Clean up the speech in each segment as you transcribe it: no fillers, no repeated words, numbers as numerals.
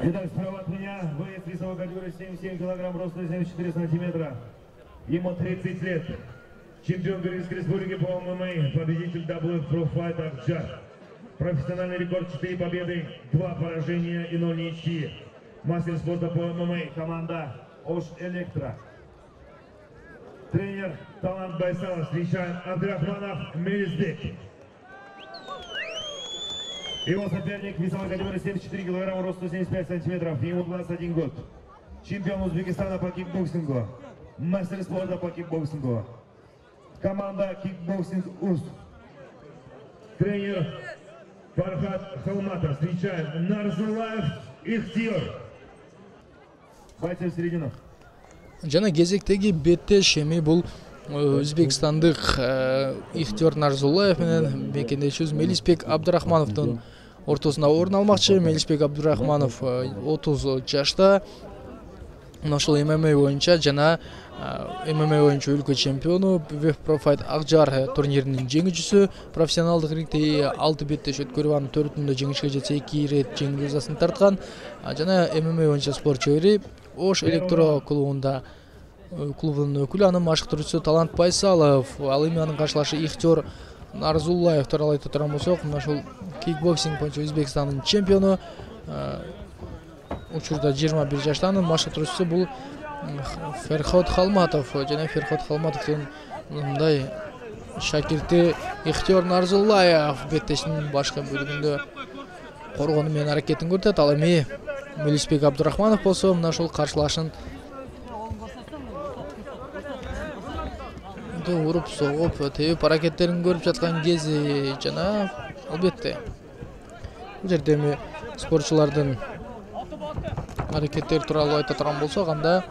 Итак, справа от меня боец весовой категории 77 килограмм, роста 74 сантиметра. Ему 30 лет. Чемпион Кыргызской республики по ММА, победитель WF Pro Fight Акжар. Профессиональный рекорд 4 победы, 2 поражения и 0 ничьи. Мастер спорта по ММА, команда Ош Электро. Тренер Талант Байсалов. Встречаем Абдрахманов Мелисбек. Его соперник весовой категории 74 килограмма, рост 175 сантиметров, ему 21 год. Чемпион Узбекистана по кикбоксингу, мастер спорта по кикбоксингу. Команда Кикбоксинг УЗ. Тренер Фархат Халматов. Встречаем Нарзулаев Ихтиор. Бойцы в середину. Жана кезектеги беттеш эми бул Өзбекстандык Ихтиор Нарзулаев менен мекендешибиз Мелисбек Абдрахмановдун ортосунда орун алмакчы. Мелисбек Абдрахманов 30 жашта. Ошол ММА боюнча жана ММА боюнча өлкө чемпиону, WF Pro Fight Акжар турниринин жеңүүчүсү. Профессионалдык рингде 6 беттеш өткөрүп, анын 4-үндө жеңишке жетсе 2 ирет жеңүү жазасын тарткан. Жана ММА боюнча спорт чебери Ош Электро клубунун өкүлү, анын машыктыруучусу Талант Байсалов. Ал эми анын каршылашы Ихтиор Нарзулаев тууралуу айта турган болсок, ошол кикбоксинг боюнча Өзбекстандын чемпиону. Учурда 21 жашта, анын машыктыруучусу бул Ферхот Халматов. Жана Ферхот Халматовдун мындай шакирти Ихтиор Нарзулаев беттештин башкы бөлүгүндө коргону менен аракетин көрсөтөт. Ал эми Мелисбек Абдрахманов болсо мына ушул каршылашын уруп согуп, тебип аракеттерин көрүп жаткан кези жана албетте бул жерде эми спортчулардын аракеттери тууралуу айта турган болсок, анда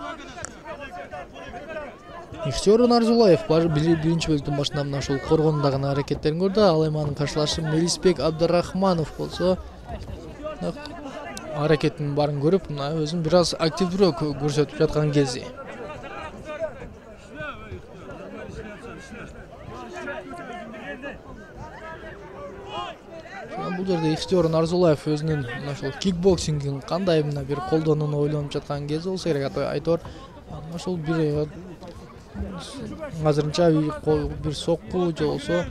Ихтиор Нарзулаев биринчи бөлүктүн башында мына ушул коргондо гана аракеттерин көрдү. Ал эми анын каршылашы Мелисбек Абдрахманов болсо аракеттин баарын көрүп, мына өзүн бир аз активдүүрөөк көрсөтүп жаткан кези. Бул жерде Ихтиор Нарзулаев өзүнүн ошол кикбоксингин кандай мына бир колдонууну ойлонуп жаткан кези болсо керек. Айтор ошол бир азырынча бир сокку же болбосо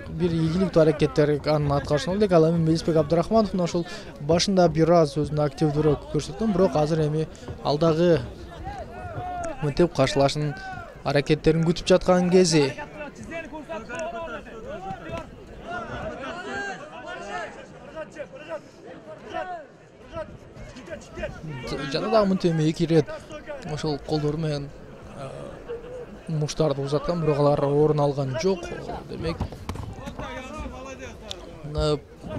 бир ийгиликтүү аракеттер анын аткарышына элек. Ал эми Мелисбек Абдрахманов ошол башында бир аз өзүн активдүүрөөк көрсөткөн, бирок азыр эми алдагы мынтип каршылашынын аракеттерин күтүп жаткан кези. Жана дагы мынтип эми 2 ирет ошол колдору менен муштарды узаткан, бирок алар орун алган жок. Демек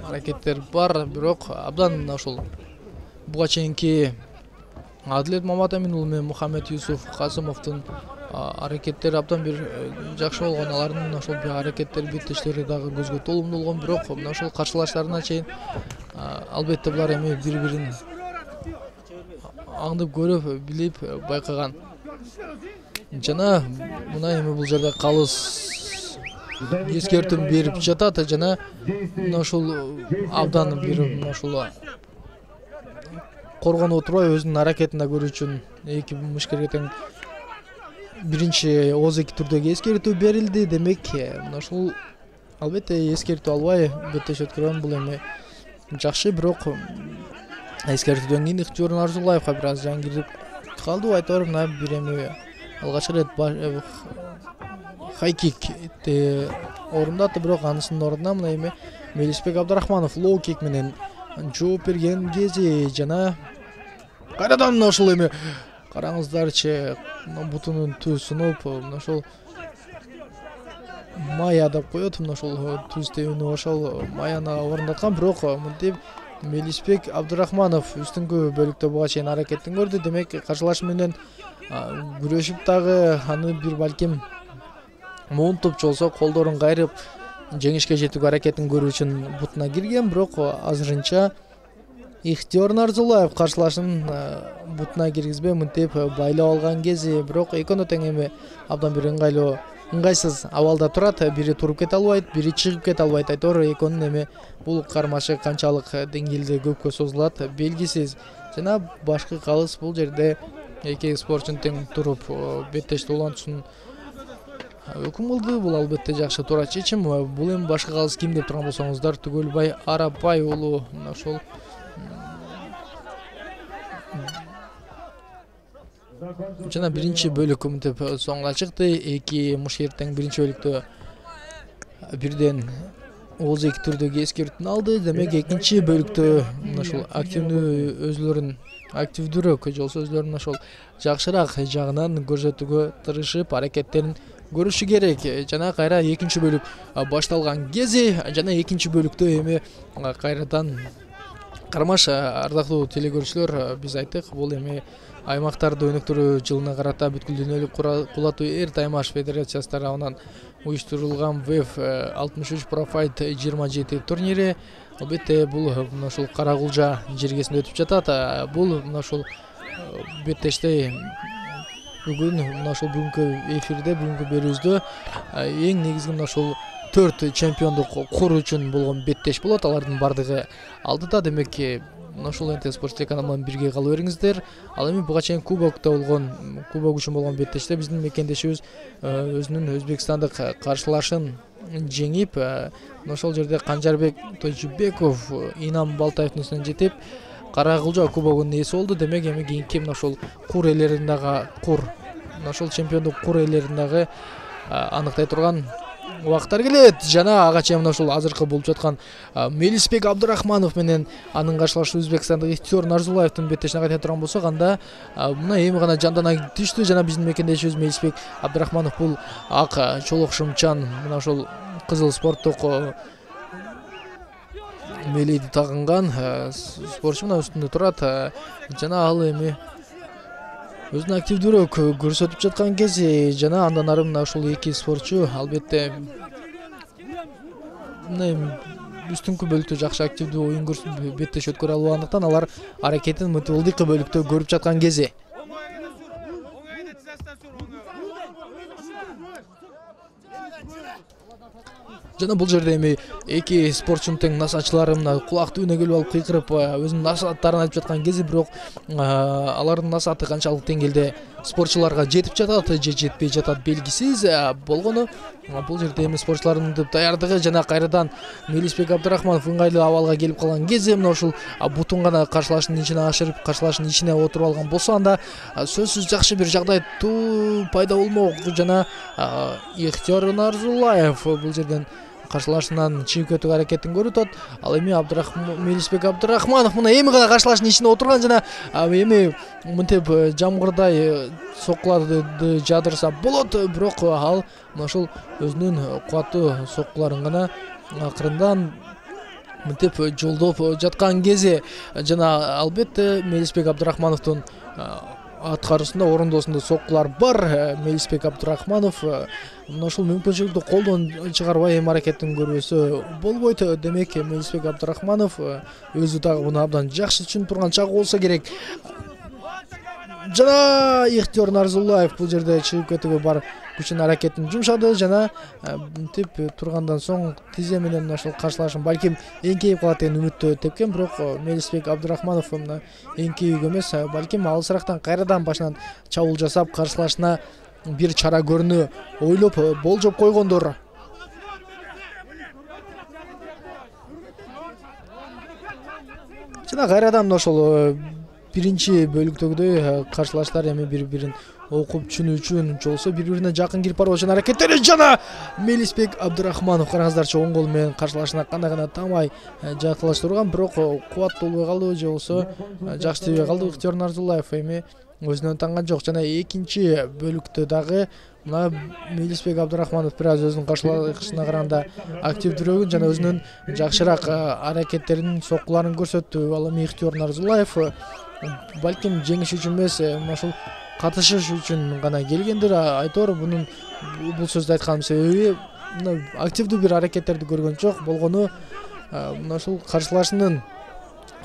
аракеттер бар, бирок абдан ошол буга чейинки Адилет Маматамин уулу менен Мухаммед Юсуф Касымовдун аракеттери абдан бир жакшы болгон. Алардын ошол аракеттери, беттештери дагы көзгө толумдуу болгон, бирок мына ошол каршылаштарына чейин албетте булар эми бири-бирин аңдып көрүп, билип, байкаган. Жана мына эми бул жерде калыс эскертүүн берип жатат. Жана мына ушул абдан бир мына ушул коргонуп отурбай өзүнүн аракетин көрүү үчүн эки мушкерге тең биринчи ооз эки түрдөгү эскертүү берилди. Демек мына ушул албетте эскертүү албай беттеш өткөргөн бул эми жакшы, бирок эскертүүдөн кийин Ихтиор Нарзулаевга бир аз жан кирип калды. Айтор мына бир эми алгачкы рет хайкикти орундатты, бирок анысынын ордуна мына эми Мелисбек Абдрахманов лоу кик менен жооп берген кези. Жана кайрадан ошол эми караңыздарчы, бутунун түзүнүп, мына ошол мая деп коет, мына ошол түз тебүүнү ошол маяны орундаткан, бирок мынтип Мелисбек Абдрахманов үстүңкү бөлүктө буга чейин аракетин көрдү. Демек каршылашы менен күрөшүп дагы аны бир балким муунтуп же болбосо колдорун кайрып жеңишке жетүүгө аракетин көрүү үчүн бутуна кирген, бирок азырынча Ихтиор Нарзулаев каршылашын бутуна киргизбей мынтип байлап алган кези. Бирок экөөнө тең эми абдан бир ыңгайлуу ыңгайсыз абалда турат, бири туруп кете албайт, бири чыгып кете албайт. Айтор экөөнүн эми бул кармашы канчалык деңгээлде көпкө созулат белгисиз. Жана башкы калыс бул жерде эки спортчунун тең туруп беттешти улантуусун өкүм кылды. Бул албетте жакшы туура чечим. Бул эми башкы калыс ким деп турган болсоңуздар, Түгөлбай Арапбай уулу ошол жана биринчи бөлүк мынтип соңуна чыкты. Эки мушкетер тең биринчи бөлүктө бирден ооздойки түрдөгү эскертүүнү алды. Демек экинчи бөлүктө ошол активдүүрөөк же болбосо өзлөрүнүн ошол жакшыраак жагынан көрсөтүүгө тырышып аракеттерин көрүшү керек. Жана кайра экинчи бөлүк башталган кези жана экинчи бөлүктө эми кайрадан кармаш ардактуу телекөрүүчүлөр, биз айттык, бул эми аймактарды өнүктүрүү жылына карата бүткүл дүйнөлүк кулатуу эр таймаш федерациясы тарабынан уюштурулган ВЭФ 63 Профайт 27 турнири. Албетте бул ошол Карагулжа жергесинде өтүп жатат. Бул ошол беттеште бүгүн ошол бүгүнкү эфирде, бүгүнкү берүүбүздө эң негизги ошол 4 чемпиондук кур үчүн болгон беттеш болот. Алардын бардыгы алдыда. Демек ошол НТ Спорт телеканалы менен бирге кала бериңиздер. Ал эми буга чейин кубок үчүн болгон беттеште биздин мекендешибиз өзүнүн өзбекстандык каршылашын жеңип, ошол жерде Канжарбек Тойжубеков Инам Балтаевдин үстүнөн жетип, Карагулжа кубогунун ээси болду. Демек эми кийинки ошол кур ээлеринде ошол чемпиондук кур ээлеринде аныктай турган убакыттар келет. Жана ага чейин ошол азыркы болуп жаткан Мелисбек Абдырахманов менен анын каршылашы Өзбекстандык Ихтиёр Нарзуллаевдин беттешине кайта турган болсок, анда мына эми гана жандана түштү. Жана биздин мекендешибиз Мелисбек Абдырахманов бул ак чолок шымчан мына ошол кызыл спорттук мелийди тагынган спортчу мына үстүндө турат. Жана ал эми өзүн активдүүрөөк көрсөтүп жаткан кези. Жана андан ары мына ушул эки спортчу албетте үстүнкү бөлүктө жакшы активдүү оюн көрсөтүп беттеш өткөрө албагандыктан алар аракетин мынтип бөлүктө көрүп жаткан кези. Жана бул жерде эми эки спортчунун тең насаачылары мына кулак түбүнө келип алып кыйкырып өзүнүн насааттарын айтып жаткан кези, бирок алардын насааты канчалык деңгээлде спортчуларга жетип жатат же жетпей жатат белгисиз болгону. Бул жерде эми спортчулардын даярдыгы жана кайрадан Мелисбек Абдырахманов ыңгайлуу абалга келип калган кези мына ушул бутун гана каршылашынын ичине ашырып, каршылашынын ичине отуруп алган болсо, анда сөзсүз жакшы бир жагдай пайда болмок. Жана Ихтиёр Нарзуллаев бул жерден каршылашынан чыгып кетүүгө аракетин көрүп атат. Ал эми Мелисбек Абдырахманов мына эми гана каршылашынын ичине отурган жана эми мынтип жамгырдай соккуларды жадырса болот, бирок ал мына ошол өзүнүн кубаттуу соккуларын гана акырындан мынтип жолдоп жаткан кези. Жана албетте Мелисбек Абдырахмановдун аткаруусунда, орундоосунда соккулар бар. Мелисбек Абдырахманов мына ушул мүмкүнчүлүктү колдон чыгарбай эми аракетин көрбөсө болбойт. Демек Мелисбек Абдырахманов өзү дагы муну абдан жакшы түшүнүп турган чагы болсо керек. Жана Ихтиёр Нарзуллаев бул жерде чыгып кетүүгө бар күчүн аракетин жумшады. Жана мынтип тургандан соң тизе менен ошол каршылашын балким эңкейип калат деген үмүттө тепкен, бирок Мелисбек Абдырахманов мына эңкейүүгө эмес, балким алысырактан кайрадан башынан чабуул жасап каршылашына бир чара көрүүнү ойлоп болжоп койгондор. Жана кайрадан ошол биринчи бөлүктөгүдөй каршылаштар эми бири-бирин окуп түшүнүү үчүн жолсо бири-бирине жакын кирип баруу үчүн аракеттери. Жана Мелисбек Абдырахманов караңыздарчы оң колу менен каршылашына кандай гана тамай жакталаштырган, бирок кубаттуу болбой калды же болбосо жакшы тийбей калды. Ихтиёр Нарзуллаев эми өзүнөн танган жок. Жана экинчи бөлүктө дагы мына Мелисбек Абдырахманов бир аз өзүнүн каршылашына караганда активдүүрөөк жана өзүнүн жакшыраак аракеттерин, соккуларын көрсөттү. Ал эми Ихтиёр Нарзуллаев балким жеңиш үчүн эмес, ошол катышыш үчүн гана келгендир. Айтор бул сөздү айтканын себеби мына активдүү бир аракеттерди көргөн жок болгону, мына ушул каршылашынын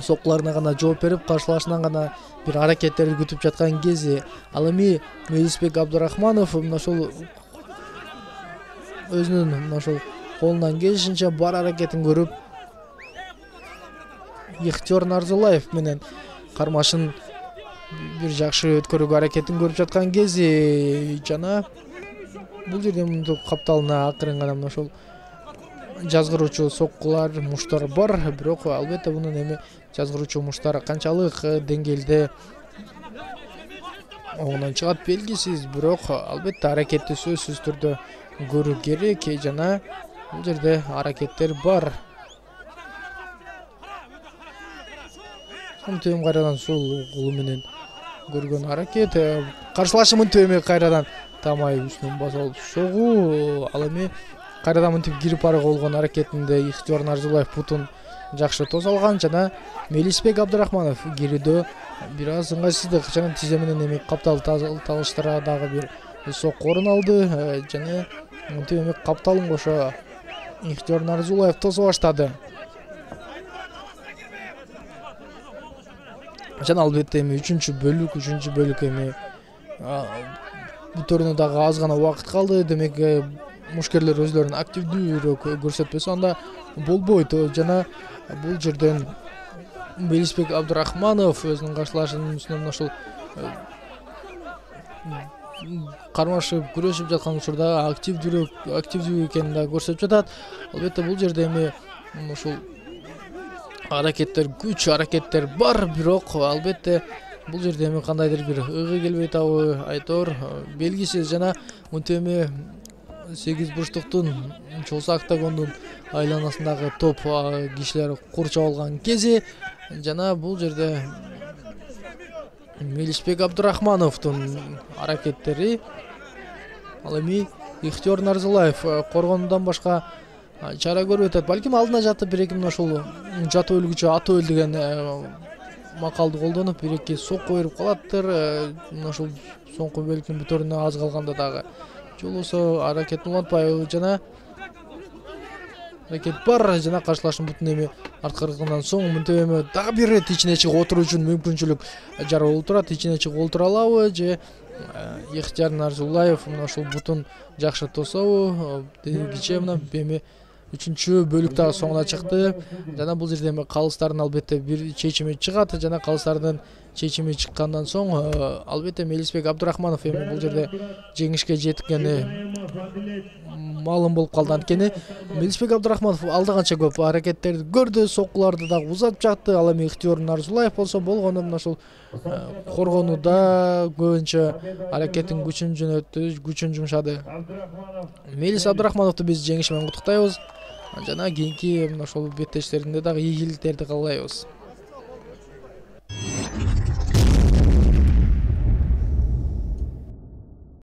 соккуларына гана жооп берип, каршылашынан гана бир аракеттерди күтүп жаткан кези. Ал эми Мелисбек Абдырахманов мына ушул өзүнүн мына ошол колунан келишинче бар аракетин көрүп Ихтиёр Нарзуллаев менен кармашын бир жакшы өткөрүүгө аракетин көрүп жаткан кези жана бул жерде мынтип капталына акырын гана мына ошол жазгыруучу соккулар, муштар бар, бирок албетте мунун эми жазгыруучу муштар канчалык деңгээлде оңунан чыгат белгисиз, бирок албетте аракетти сөзсүз түрдө көрүү керек жана бул жерде аракеттер бар. Мынтип кайрадан сол колу менен көргөн аракет, каршылашы мынтип эми кайрадан тамай үстүнөн басып алып согуу, ал эми кайрадан мынтип кирип барууга болгон аракетинде Ихтиёр Нарзуллаев бутун жакшы тосо алган жана Мелисбек Абдрахманов кирүүдө бир аз ыңгайсыздык жана тизе менен эми каптал талыштыра дагы бир сокку орун алды жана мынтип эми капталын кошо Ихтиёр Нарзуллаев тосо баштады. Жана албетте эми үчүнчү бөлүк эми бүтөрүнө дагы аз гана убакыт калды. Демек мушкерлер өзлөрүн активдүүрөөк көрсөтпөсө анда болбойт. Жана бул жерден Мелисбек Абдрахманов өзүнүн каршылашынын үстүнөн ошол кармашып күрөшүп жаткан учурда активдүү экенин да көрсөтүп жатат. Албетте бул жерде эми ушул күч аракеттер бар, бирок албетте бул жерде эми кандайдыр бир ыгы келбей атабы айтор белгисиз. Жана мынтип эми 8 бурчтуктун чоосу октагондун айланасындагы топ кишилер курчап алган кези жана бул жерде Мелисбек Абдрахмановдун аракеттери, ал эми Ихтиёр Нарзуллаев коргонудан башка чара көрүп атат. Балким алдына жатып бир-эки мына ушул жатып өлгүчө аты өл деген макалды колдонуп бир-эки сокку берип калаттыр. Мына ушул соңку бөлүктүн бүтөрүнө аз калганда дагы жолосо аракетин улантпайбы жана аракет бар жана каршылаштын бутун эми арткыргандан соң мынтип эми дагы бир ирет ичине чыгып отуруу үчүн мүмкүнчүлүк жаралып турат. Ичине чыгып олтура алабы же Ихтиёр Нарзуллаев мына ушул бутун жакшы тособу дегиче мына эми үчүнчү бөлүк дагы соңуна чыкты жана бул жерде эми калыстардын албетте бир чечими чыгат жана калыстардын чечими чыккандан соң албетте Мелисбек Абдрахманов эми бул жерде жеңишке жеткени маалым болуп калды. Анткени Мелисбек Абдрахманов алда канча көп аракеттерди көрдү, соккуларды дагы узатып жатты. Ал эми Ихтиёр Нарзуллаев болсо болгону мына ушул коргонууда көбүнчө аракеттин күчүн жөнөттү, күчүн жумшады. Мелис Абдрахмановду биз жеңиш менен куттуктайбыз жана кийинки мына ошол беттештеринде дагы ийгиликтерди каалайбыз.